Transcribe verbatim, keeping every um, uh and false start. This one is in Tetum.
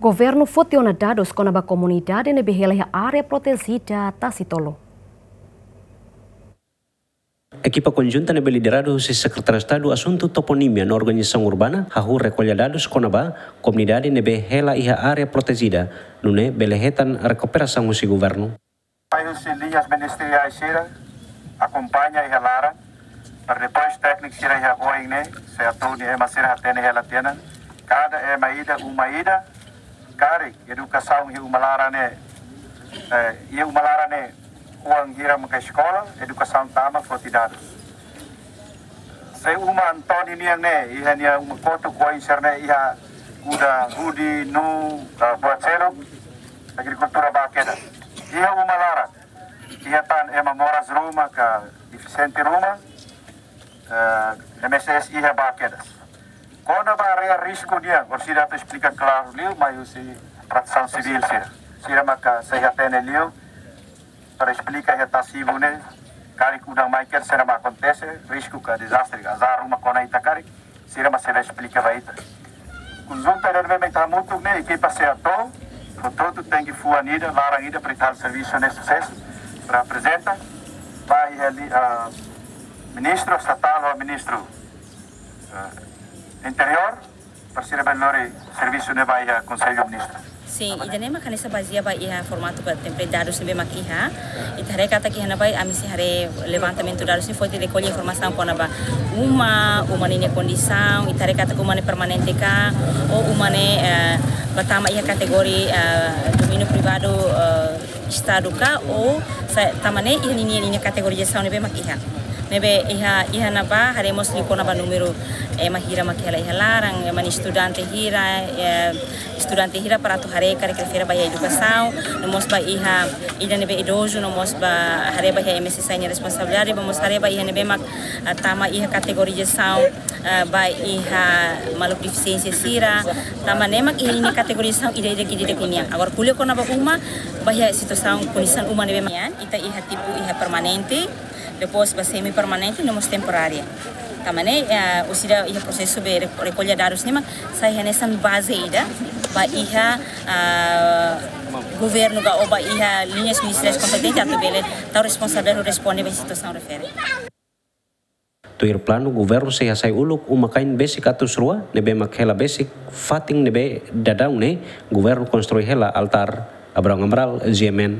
Governu foti ona dadus kona-ba komunidade ne'ebé hela iha área protejida Tasi Tolu. Ekipa konjunta ne'ebé lidera husi Sekretaria Estadu Asuntu Toponímia no Organizasaun Urbana hahú rekolla dadus kona-ba komunidade ne'ebé hela iha área protejida, nune'e bele hetan rekuperasaun husi governu. Mai husi liñas ministeriais sira akompaña iha laran, para depois tékniku sira iha oin ne'e, SEATOU nia ema sira hatene hela tiha ona, kada ema ida, uma ida, karik edukasaun iha uma laran ne'e, eh, iha uma laran ne'e, oan hira maka eskola, edukasaun tama foti dadus. Se uma Antoni nian ne'e, iha nia uma kotuk oin sira-ne'e iha kuda hudi, nuu, eh, buat seluk, agrikultura ba kedas. Iha uma laran, iha tan ema moras ruma ka defisiente ruma, eh, M S S iha ba kedas. Kona-ba área risku nian, orsida atu esplika klaru liu, mai husi Protesaun Sivíl sira. Sira maka sei hatene liu, para esplika iha Tasi Tolu ne'e, karik udan mai kedas saida mak akontese, risku ka dezastre, azar ruma kona ita karik, sira mak sei esplika ba ita. Konjunta ne'ebé mak ita hamutuk ne'e, ekipa SEATOU, portantu tenke fuan ida, laran ida, para ita servisu ne'e susesu, para aprezenta, ba iha li, ah, ministru estatál ou ministru, ah, interiór, para sira bele lori servisu ne'e ba iha Konsellu Ministru. Sin, ida-ne'e mak hanesan bazeia ba iha formatu ka template dadus ne'ebé mak iha. Ita haree katak iha ne'ebá ami sei haree levantamentu dadus ne'e foti rekolla informasaun kona-ba uma, uma ninia kondisaun, ita haree katak uma ne'e permanente ka, ou uma ne'e, eh, bá tama iha kategoria, eh, domíniu privadu, eh, Estadu ka, ou sa-, tanba ne'e iha ninia, ninia kategorizasaun ne'ebé mak iha. Ne'ebé iha, iha ne'ebá haree mós liu kona-ba númeru ema hira mak hela iha laran, ema nia estudante hira, eh, estudante hira para atu haree karik refere ba iha edukasaun, no mós ba iha ida ne'ebé idozu, no mós ba haree ba iha M S S nia responsabilidade, ba mós haree ba iha ne'ebé mak, ah, tama iha kategorizasaun, ah, ba iha maluk defisiénsia sira, tanba ne'e mak iha ninia kategorizasaun ida-idak, ida-idak nian. Agora ko'alia kona-ba uma, ba iha situasaun kondisaun uma ne'ebé mak nian, ita iha tipu iha permanente, depois ba semi permanente, no mós temporária. Tanba ne'e, eh, orsida iha prosesu be re-, rekolla dadus ne'e mak sai hanesan baze ida ba iha, ah, governu ka ou ba iha liñas ministeriais kompetente atu bele tau responsabilidade responde ba situasaun refere. Tuir planu, governu sei hasai uluk uma-kain besik atus rua ne'ebé mak hela besik fatin ne'ebé daudaun ne'e governu konstrui hela altár. Abrão Amaral, G M N.